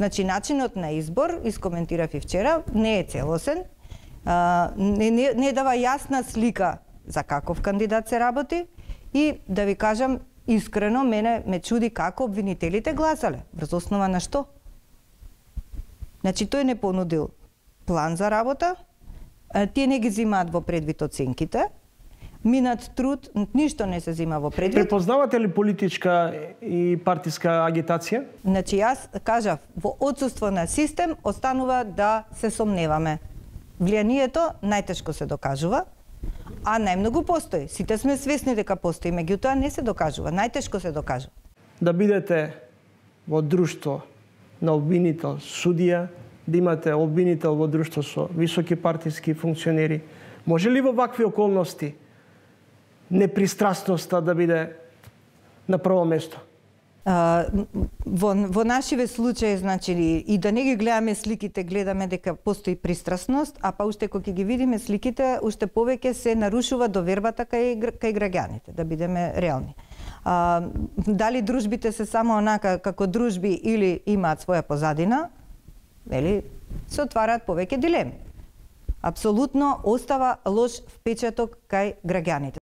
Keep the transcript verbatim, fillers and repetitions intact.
Значи, начинот на избор, искоментирав и вчера, не е целосен, а, не, не, не дава јасна слика за каков кандидат се работи и, да ви кажам, искрено, мене ме чуди како обвинителите гласале, врз основа на што? Значи, тој не понудил план за работа, тие не ги зимаат во предвид оценките, минат труд, ништо не се зима во предвид. Препознавате ли политичка и партиска агитација? Значи, јас кажав, во отсуство на систем останува да се сомневаме. Влијанието најтешко се докажува, а најмногу постои. Сите сме свесни дека постои, меѓутоа не се докажува, најтешко се докажува. Да бидете во друштво на обвинител, судија, да имате обвинител во друштво со високи партиски функционери, може ли во вакви околности непристрасноста да биде на прво место? А, во, во нашиве случаи, значи, и да не ги гледаме сликите, гледаме дека постои пристрасност, а па уште кога ги видиме сликите, уште повеќе се нарушува довербата кај, кај граѓаните, да бидеме реални. А, дали дружбите се само онака како дружби или имаат своја позадина, вели, се отвараат повеќе дилеми. Апсолутно остава лош впечаток кај граѓаните.